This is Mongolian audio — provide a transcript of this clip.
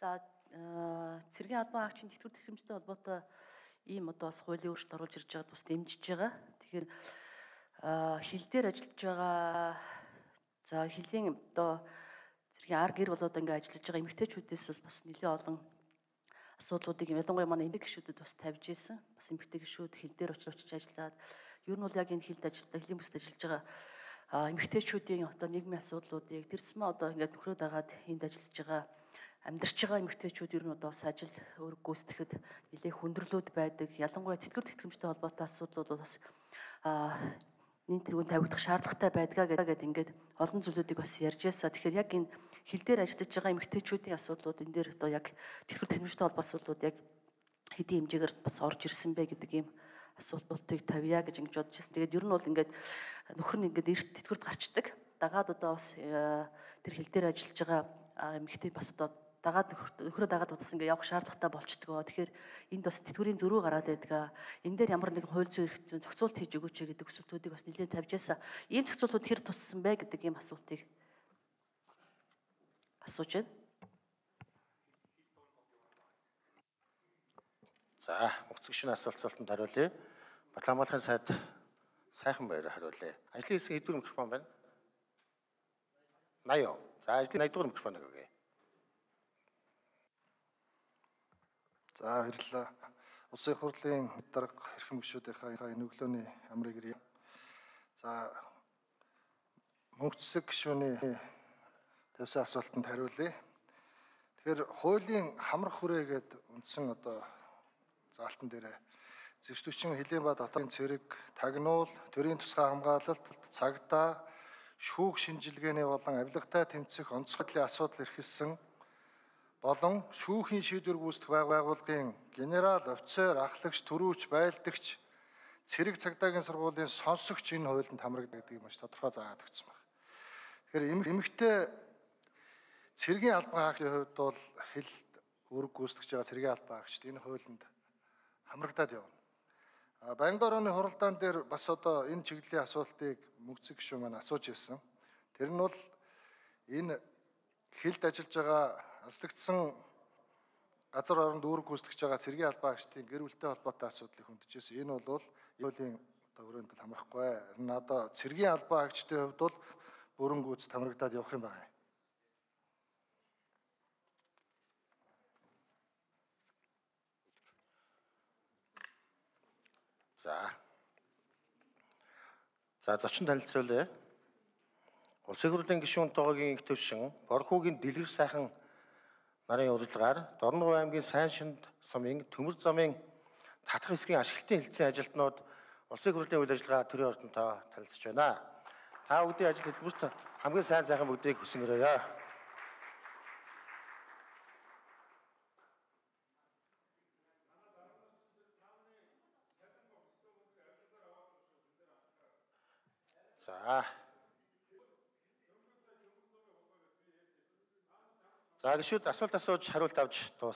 За цэргийн албан хаагчийн тэтгэвэр тэтгэмжтэй холбоотой ийм одоо бас хуулийн өөрчлөлт оруулж ирж байгаад бас дэмжиж байгаа. Тэгэхээр хил дээр ажиллаж байгаа за хилийн одоо цэргийн ар гэр болоод ингээ ажиллаж байгаа эмэгтэйчүүдээс бас нэлээд олон асуудлуудыг ялангуяа манай эмэгтэй гишүүдэд бас тавьж исэн. Бас эмэгтэй гишүүд хил дээр очиж ажиллаад ер нь бол яг энэ хилд ажилладаг хилийн бүсд ажиллаж байгаа эмэгтэйчүүдийн одоо нийгмийн асуудлуудыг тэр зэмээ одоо ингээд нөхрөө дагаад энд ажиллаж байгаа амьдарч байгаа эмэгтэйчүүд ер нь одоо бас ажил үүрэг гүйцэтгэхэд нэлээд хүндрэлүүд байдаг. Ялангуяа тэтгэвэр тэтгэмжтэй холбоотой асуудлууд бас нийт тэргүүн тавигдах шаардлагатай байдгаа гэдэг ингээд олон зүйлүүдийг бас ярьж ясаа. Тэгэхээр яг энэ хил дээр ажиллаж байгаа эмэгтэйчүүдийн асуудлууд энэ дээр одоо яг тэтгэвэр тэтгэмжтэй холбоотой асуудлууд яг хэдийн хэмжээгээр бас орж ирсэн бэ гэдэг ийм асуултуудыг тавья гэж ингэж бодож байна. Тэгээд ер нь бол ингээд нөхөр нь ингээд эрт тэтгэврт гарчдаг. Дагаад одоо бас тэр хил дээр ажиллаж байгаа эмэгтэй бас одоо дагаад нөхрөө дагаад бас ингээд явах шаардлагатай болчдгоо. Тэгэхээр энд бас тэтгэврийн зөрүү гараад байдаг. Энэ дээр ямар нэгэн хууль зүйн эрх зүйн зохицуулт хийж өгөөч гэдэг өсөлтүүдийг бас нэлээд тавьж ясаа. Ийм зохицуултууд хэр туссан бэ гэдэг ийм асуултыг асууж байна. За, өгцөг шинэ асуултанд хариулъя. Батламгалахын сайд сайхан баяраар хариулъя. Ажлын хэсэг хэдвэр микрофон байна? 80. За, ажлын 80 дугаар микрофоныг өгье. За, баярлалаа. Улсын их хурлын дарга эрхэм гишүүдийнхээ энэ өглөөний амрыг ирье. За, мөнх цэцэг гишүүний тавьсан асуултанд хариулъя. Тэгэхээр хуулийн хамрах хүрээ гэдэг үндсэн одоо заалтан дээр зэвсдүүчин хилийн ба дотоодын цэрэг, тагнуул, төрийн тусгай хамгаалалт, цагдаа, шүүх шинжилгээний болон авилгатай тэмцэх онцгойлын асуудал эрхэлсэн болон шүүхийн шийдвэр гүйцэтгэх байгууллагын генерал, офицер, ахлагч, түрүүч, байлдагч, цэрэг цагдаагийн сургуулийн сонсогч энэ хуулинд хамрагддаг гэдэг юм маш тодорхой заагаад өгсөн байна. Тэгэхээр эмэгтэй цэргийн албан хаагчийн хувьд бол хил үүрэг гүйцэтгэж байгаа цэргийн албан хаагчид энэ хуулинд хамрагдаад явна. Байнгын орооны хуралдаан дээр бас одоо энэ чиглэлийн асуултыг мөнх цэцэг гишүүн маань асууж ирсэн. Тэр нь бол энэ хилд ажиллаж байгаа аслагдсан газар оронд үүрэг гүйцэтгэж байгаа цэргийн албан хаагчдын гэр бүлтэй холбоотой асуудлыг хөндөж ирсэн. Энэ бол хуулийн одоо өрөөнд хамрахгүй. Харин одоо цэргийн албан хаагчдын хувьд бол бүрэн гүйцэд хамрагдаад явах юм байна. За зочин танилцуулъя. Улсын их хурлын гишүүн тоогогийн их төвшин Борхуугийн дэлгэр сайхан нарын урилгаар Дорногов аймгийн Сайншинд сумын Төмөр замын татах хэсгийн ашиглалтын хэлтсийн ажилтнууд улсын их хурлын үйл ажиллагаа төрийн ордонтой танилцж байна. Та бүгдийн ажил хөтөлбөрт хамгийн сайн сайхан бүгдийг хүсэн өрөөё. За гишүүд асуулт асууж хариулт авч дуусна.